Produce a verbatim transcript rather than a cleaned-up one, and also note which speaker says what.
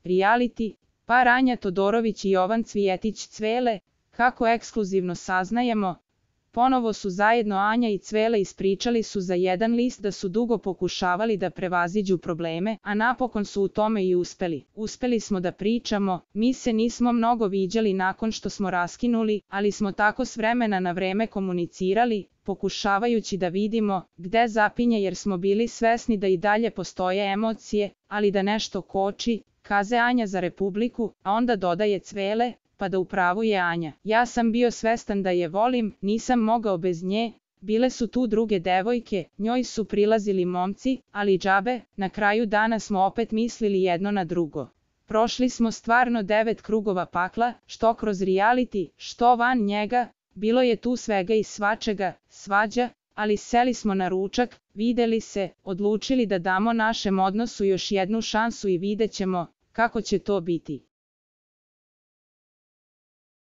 Speaker 1: reality, par Anja Todorović i Jovan Cvijetić Cvele, kako ekskluzivno saznajemo, ponovo su zajedno Anja i Cvele ispričali su za jedan list da su dugo pokušavali da prevaziđu probleme, a napokon su u tome i uspeli. Uspeli smo da pričamo, mi se nismo mnogo viđali nakon što smo raskinuli, ali smo tako s vremena na vreme komunicirali, pokušavajući da vidimo gde zapinje jer smo bili svesni da i dalje postoje emocije, ali da nešto koči, kaze Anja za Republiku, a onda dodaje Cvele, pa da u pravu je Anja. Ja sam bio svestan da je volim, nisam mogao bez nje, bile su tu druge devojke, njoj su prilazili momci, ali džabe, na kraju dana smo opet mislili jedno na drugo. Prošli smo stvarno devet krugova pakla, što kroz reality, što van njega, bilo je tu svega i svačega, svađa, ali seli smo na ručak, videli se, odlučili da damo našem odnosu još jednu šansu i vidjet ćemo kako će to biti.